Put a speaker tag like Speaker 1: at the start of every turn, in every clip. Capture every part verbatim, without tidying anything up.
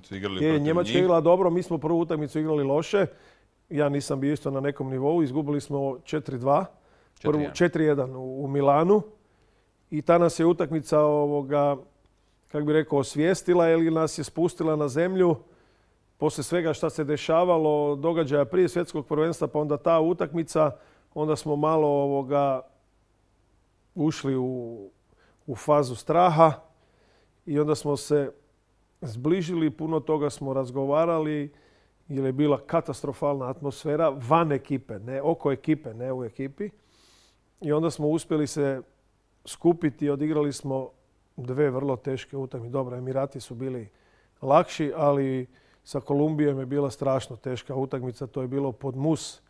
Speaker 1: utakmicu igrali
Speaker 2: je,
Speaker 1: protiv
Speaker 2: Njemačka
Speaker 1: njih.
Speaker 2: igrala dobro, mi smo prvu utakmicu igrali loše. Ja nisam bio isto na nekom nivou. Izgubili smo četiri dva. četiri jedan u, u Milanu. I ta nas je utakmica ovoga, kako bi rekao, osvijestila ili nas je spustila na zemlju. Poslije svega što se dešavalo, događaja prije svjetskog prvenstva, pa onda ta utakmica, onda smo malo ovoga ušli u, u fazu straha i onda smo se zbližili, puno toga smo razgovarali jer je bila katastrofalna atmosfera van ekipe, ne oko ekipe, ne u ekipi. I onda smo uspjeli se skupiti i odigrali smo dve vrlo teške utakmice. Dobro, Emirati su bili lakši, ali sa Kolumbijom je bila strašno teška utakmica. To je bilo pod mus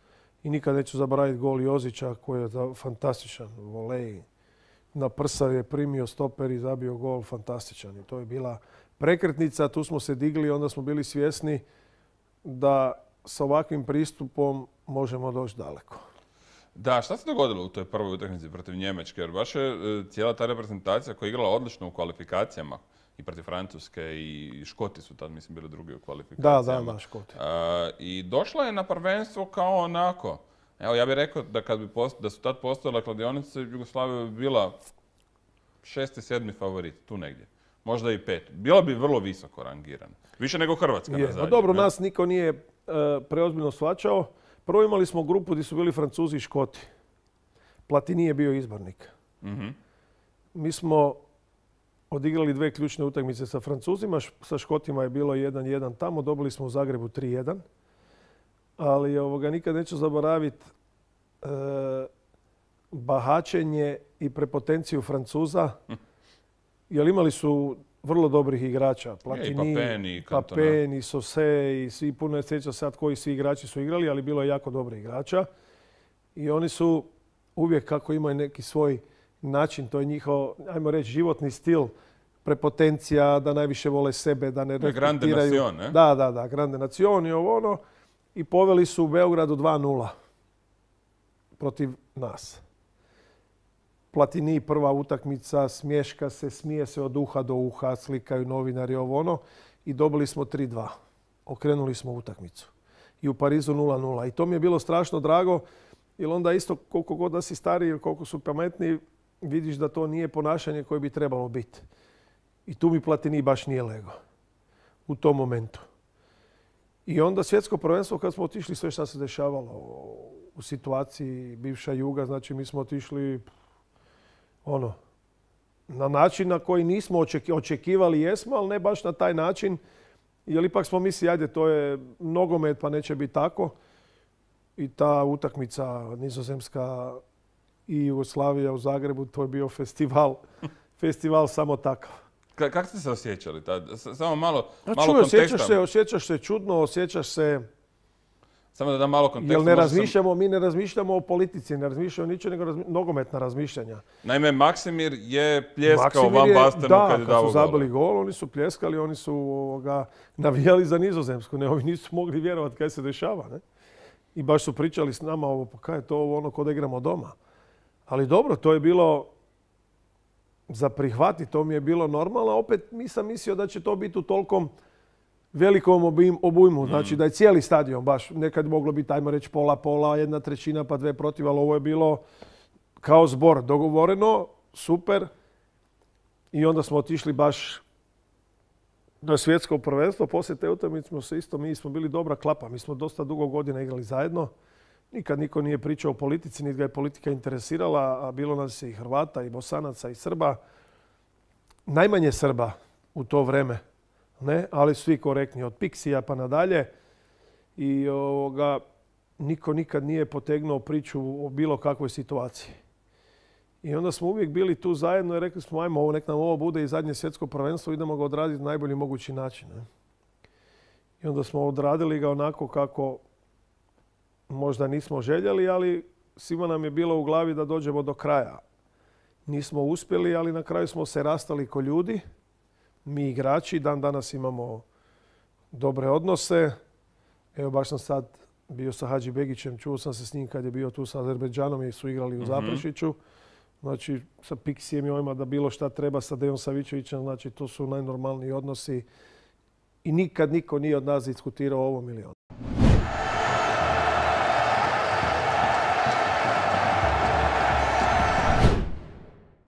Speaker 2: i nikad neću zaboraviti gol Jozića koji je fantastičan volej. Na prsa je primio stoper i zabio gol fantastičan. I to je bila prekretnica. Tu smo se digli i onda smo bili svjesni da sa ovakvim pristupom možemo doći daleko.
Speaker 1: Da, šta se dogodilo u toj prvoj utakmici protiv Njemačke? Jer baš je cijela ta reprezentacija koja je igrala odlično u kvalifikacijama i protiv Francuske i Škoti su tad, mislim, bili drugi u kvalifikacijama.
Speaker 2: Da, da, da, Škoti.
Speaker 1: I došla je na prvenstvo kao onako. Evo, ja bih rekao da kad bi post, da su tad postojala kladionice, Jugoslavija bi bila šesti, sedmi favorit, tu negdje. Možda i pet. Bila bi vrlo visoko rangirana. Više nego Hrvatska
Speaker 2: je,
Speaker 1: na zadnje.
Speaker 2: Dobro, ne? Nas niko nije uh, preozbiljno shvaćao. Prvo imali smo grupu gdje su bili Francuzi i Škoti. Platini je bio izbornik.
Speaker 1: Mm-hmm.
Speaker 2: Mi smo odigrali dve ključne utakmice sa Francuzima. Sa Škotima je bilo jedan jedan tamo. Dobili smo u Zagrebu tri jedan. Ali ovoga, nikad neću zaboraviti e, bahačenje i prepotenciju Francuza. Jer imali su vrlo dobrih igrača. Platini,
Speaker 1: i Papeni,
Speaker 2: Papeni, Sose i svi, puno je sjeća sad koji svi igrači su igrali, ali bilo je jako dobrih igrača. I oni su uvijek kako imaju neki svoj način, to je njihov, ajmo reći, životni stil, prepotencija, da najviše vole sebe, da ne respektiraju.
Speaker 1: Grande Nacion, ne?
Speaker 2: Da, da, da, Grande Nacion i ovo ono. I poveli su u Beogradu dva nula protiv nas. Platini prva utakmica, smješka se, smije se od uha do uha, slikaju novinari ovo ono i dobili smo tri dva. Okrenuli smo utakmicu. I u Parizu nula nula. I to mi je bilo strašno drago, jer onda isto koliko god da si stariji ili koliko su pametniji, vidiš da to nije ponašanje koje bi trebalo biti. I tu mi Platini baš nije lego. U tom momentu. I onda svjetsko prvenstvo kad smo otišli sve što se dešavalo u situaciji bivša Juga, znači mi smo otišli ono, na način na koji nismo očekivali, jesmo, ali ne baš na taj način. Jer ipak smo mislili, ajde, to je nogomet pa neće biti tako. I ta utakmica Nizozemska i Jugoslavija u Zagrebu, to je bio festival, festival samo takav.
Speaker 1: Ka- kako ste se osjećali tad? Samo malo,
Speaker 2: A
Speaker 1: malo
Speaker 2: čuj,
Speaker 1: konteksta.
Speaker 2: osjećaš se, osjećaš se čudno, osjećaš se...
Speaker 1: Samo da dam malo konteksta.
Speaker 2: Jer ne razmišljamo, sam... mi ne razmišljamo o politici, ne razmišljamo ničeg nego razmi... nogometna razmišljanja.
Speaker 1: Naime, Maksimir je pljeskao
Speaker 2: Maksimir
Speaker 1: Van
Speaker 2: je,
Speaker 1: Bastenu
Speaker 2: da,
Speaker 1: kad je dao
Speaker 2: gol. Da, kad su zabili
Speaker 1: gol.
Speaker 2: gol, oni su pljeskali, oni su ovoga, navijali za Nizozemsku. Ne, ovi nisu mogli vjerovati kaj se dešava. Ne? I baš su pričali s nama, ovo, pa kaj je to ovo ono kod da igramo doma. Ali dobro, to je bilo za prihvati, to mi je bilo normalno. Opet nisam mislio da će to biti u tolkom velikom obujmu. Znači da je cijeli stadion baš nekad moglo biti, ajmo reći, pola, pola, jedna trećina pa dve protiv, ali ovo je bilo kao zbor. Dogovoreno, super. I onda smo otišli baš na svjetsko prvenstvo. Poslije te utakmice smo se isto, mi smo bili dobra klapa. Mi smo dosta dugo godina igrali zajedno. Nikad niko nije pričao o politici, niti ga je politika interesirala, a bilo nas je i Hrvata, i Bosanaca, i Srba. Najmanje Srba u to vreme, ne? Ali svi korektni, od Piksija pa nadalje. I ovoga, niko nikad nije potegnuo priču o bilo kakvoj situaciji. I onda smo uvijek bili tu zajedno i rekli smo, ajmo, ovo, nek nam ovo bude i zadnje svjetsko prvenstvo, idemo ga odraditi na najbolji mogući način. Ne? I onda smo odradili ga onako kako možda nismo željeli, ali svima nam je bilo u glavi da dođemo do kraja. Nismo uspjeli, ali na kraju smo se rastali ko ljudi. Mi igrači, dan danas imamo dobre odnose. Evo baš sam sad bio sa Hadži Begićem, čuo sam se s njim kad je bio tu sa Azerbejdžanom i su igrali u Zaprešiću. Znači sa Piksijem i ovima da bilo šta treba sa Dejom Savićevićem, znači to su najnormalniji odnosi. i nikad niko nije od nas diskutirao o ovom ili onom.